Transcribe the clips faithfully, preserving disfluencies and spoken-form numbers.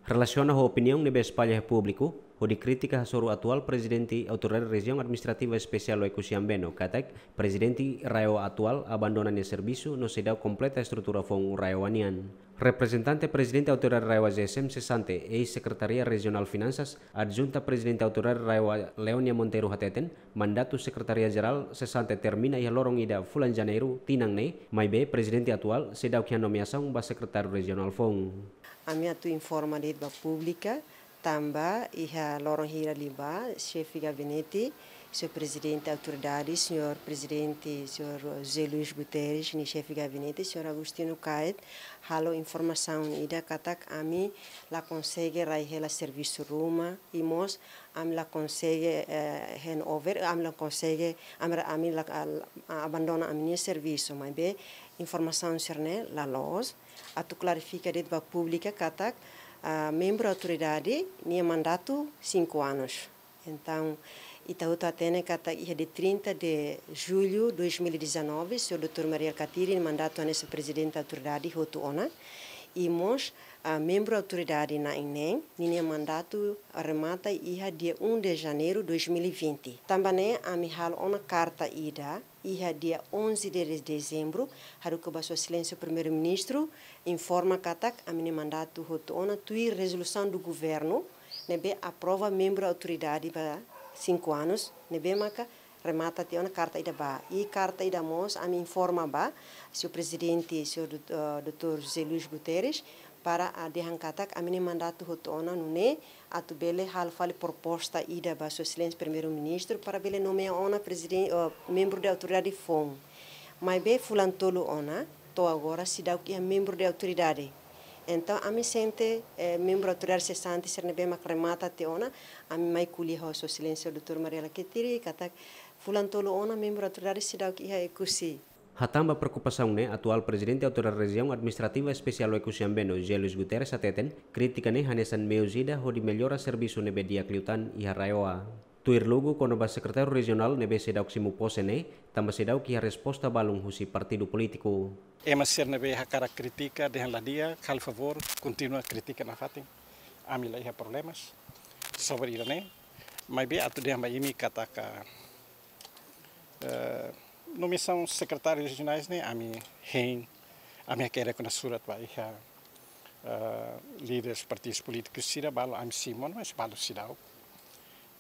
Relasiona ho opiniaun ne'ebé espalla iha públiku, hodi kritika hasoru atuál Prezidente Autoridade Rejiaun Administrativa Espesiál Oekusi Ambeno, katak Prezidente RAEOA atuál abandona nia servisu no seidauk kompleta estrutura foun RAEOA nian. Reprezentante Prezidente Autoridade RAEOA ZEESM sesante, eis-Sekretaria Rejionál Finansas, adjunta Prezidente Autoridade RAEOA Leonia Monteiro hateten, mandatu Sekretaria Jerál sesante termina iha loron ida fulan Janeiru tinan ne'e, maibé Prezidente atuál seidauk iha nomeasaun ba Sekretáriu Rejionál foun. Ami atu informa de'it ba públiku, tanba iha loron hira liubá, Xefe Gabinete, Señór Prezidente Autoridade, Señór Prezidente, Señór José Luís Guterres, nia Xefe Gabinete, Señór Agostinho Caet, halo informasaun ida katak ami la konsege rai hela servisu ruma, i mós ami la konsege, eh, hand over, ami la konsege, ami, ami la, al-, abandona ami-nia servisu, maibé informasaun sira-ne'e la loos. Atu klarifika de'it ba públiku katak, ah, membru autoridade nia mandatu cinco anos. Entaun, ita hotu hatene katak iha dia trinta de julho dois mil e dezanove, Señór doutór Mari Alkatiri nia mandatu hanesan Prezidente Autoridade hotu ona. I mós, ah, membru autoridade na'in neen, ninia mandatu remata iha dia um de janeiro dois mil e vinte. Tanba ne'e ami halo ona karta ida, iha dia onze de dezembro, haruka ba Sua Exelénsia Primeiru-Ministru, informa katak ami-nia mandatu hotu ona tuir rezolusaun do governu, ne'ebé aprova membru autoridade ba cinco anos, ne'ebé maka remata tiha ona karta ida bá. I karta ida mós ami informa ba Señór Prezidente, Señór dout-, eh, doutór José Luís Guterres, para, ah, dehan katak ami-nia mandatu hotu ona nune'e, atu bele halo fali proposta ida ba Sua Exelénsia Primeiru-Ministru para bele nomeia ona preziden-, eh, membru de autoridade foun. Maibé fulan tolu ona, to'o agora seidauk iha membru de autoridade. Entaun, ami sente, eh, membru autoridade sesante sira ne'ebé mak remata tiha ona, ami mai ko'alia ho Sua Exelénsia doutór Mari Alkatiri, katak fulan tolu ona membru autoridade seidauk iha Oekusi. Hatán ba preokupasaun ne'e, atuál Prezidente Autoridade Rejiaun Administrativa Espesiál Oekusi Ambeno, José Luís Guterres hateten, krítika ne'e hanesan meius ida hodi mellora servisu ne'ebé di'ak liután iha RAEOA. Tuir lugu kona-ba sekretáriu rejionál ne'ebé seidauk simu pose ne'e, tanba seidauk iha resposta balun husi partidu polítiku. Ema sira ne'ebé hakarak kritika, dehan la di'ak, halo favór, kontinua kritika nafatin. Ami la iha problemas sobre ida-ne'e. Maibé atu dehan ba imi katak, eh, nomeasaun sekretáriu rejionais ne'e, ami hein, ami hakerek ona surat ba iha, eh, líderes partidus polítikus sira, balu ami simu ona, mas balu seidauk.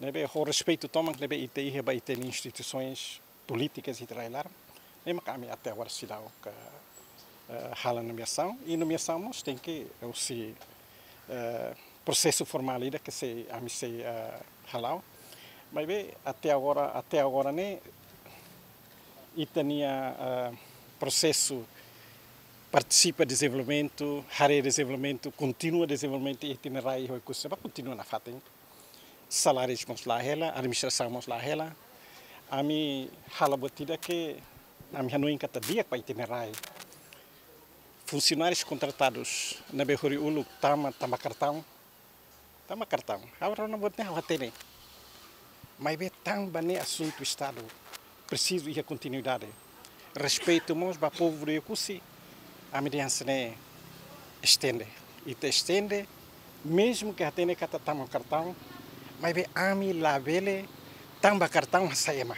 Ne'ebé ho respeitu tomak ne'ebé ita iha ba ita-nia instituisoens polítikas ita rai-laran, ne'e maka ami até agora seidauk, eh, halo nomeasaun, i nomeasaun mós tenke husi, eh, prosesu formál ida ke sei, ami sei, eh, hala'o. Maibé até agora, até agora ne'e ita-nia, eh, prosesu partisipa dezenvolvimentu, haree dezenvolvimentu, kontinua dezenvolvimentu iha ita-nia rai iha Oekusi ne'ebá kontinua nafatin. Salárius mós la hela, administrasaun mós la hela. Ami halo buat ida ke ami hanoin katak di'ak ba ita-nia rai. Funsionárius kontratadus ne'ebé hori uluk tama, tama kartaun. Tama kartaun. Ha'u rona buat ne'e ha'u hatene. Maibé tanba ne'e asuntu Estadu presiza iha kontinuidade. Respeitu mós ba povu de Oekusi, ami dehan hanesan ne'e estende. Ita estende, mezmu ke hatene katak tama kartaun, maibé ami labele tama kartaun hasai ema.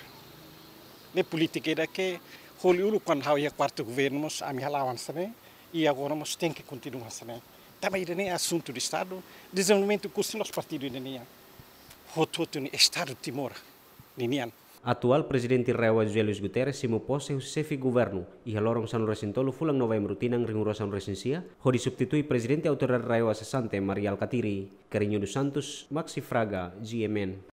Ne'e polítika ida ke hori uluk kuandu ha'u iha kuartu governu mós ami hala'o hanesan ne'e, i agora mós tenke kontinua hanesan ne'e. Tanba ida-ne'e asuntu de Estadu, dezenvolvimentu Oekusi la'ós partidu ida nian. Hotu-hotu ne'e Estadu Timor ninian. Atuál Prezidente RAEOA José Luís Guterres simu pose husi xefe governu iha loron sanulu-resin-tolu fulan Novembru tinan rihun rua sanulu-resin-sia, hodi substitui Prezidente Autoridade RAEOA sesante Mari Alkatiri. Carrinho dos Santos, Maxi Fraga, G M N.